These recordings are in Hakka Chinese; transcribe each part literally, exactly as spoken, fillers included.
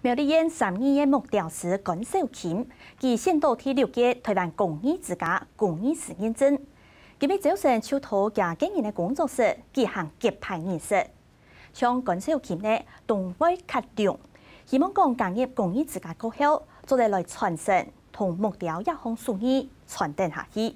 苗栗縣三義縣木寮市關少琴，佢選到第六屆台灣公益之家公益師認證。今日朝晨就到佢个人个工作室舉行揭牌儀式。像關少琴呢，動畫卡通，希望講加入公益之家過後，做得來傳承同木雕這項手藝傳承下去。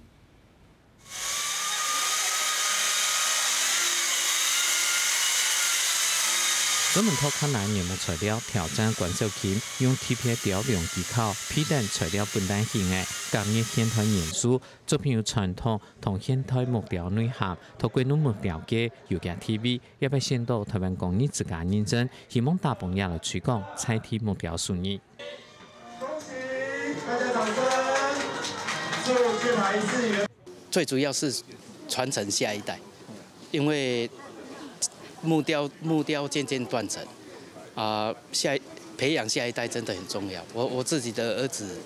專門靠較難原木材料挑戰關少琴，用特別雕龍技巧，配等材料本旦形个，加入現代元素，作品有傳統同現代木雕內涵，透過用木雕个有佢个地位，也被選到台灣公益之家認證，希望打幫也來推廣在地木雕手藝。恭喜大家掌聲，祝揭牌一次圆。最主要是传承下一代，因为木雕木雕渐渐断层，啊、下培养下一代真的很重要。我我自己的儿子，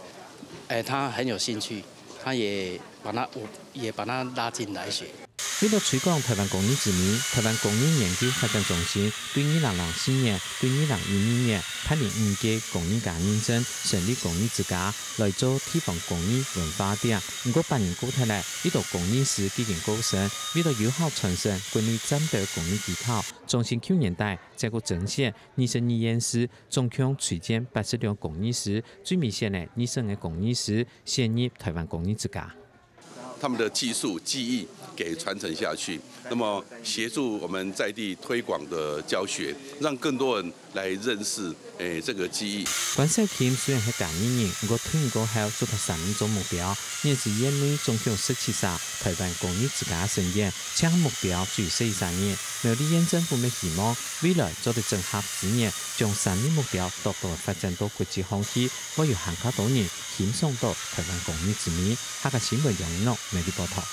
哎，他很有兴趣，他也把他我也把他拉进来学。为了推广台湾工艺之美，台湾工艺研究发展中心对二零零四年对二零一二年办理五个工艺家认证，成立工艺之家，来做地方工艺文化点。毋过八年过忒了，一到工艺师已经过身，为了有效传承国内战斗工艺技巧，中心旧年底再过甄选二十二院士，总共推荐八十六工艺师，最尾选了二十个工艺师，选入台湾工艺之家。 他们的技术技艺给传承下去，那么协助我们在地推广的教学，让更多人来认识诶这个技艺。关少琴虽然係嘉义人，毋过退伍過後做到三義做木雕，現時院內總共十七儕台灣工藝之家成員，淨木雕就有十一儕人。苗栗縣政府乜希望未來做得整合資源，將三義木雕多多發展到國際上去，會有還較多人欣賞到台灣工藝之美。客家新聞楊一諾，苗栗報導。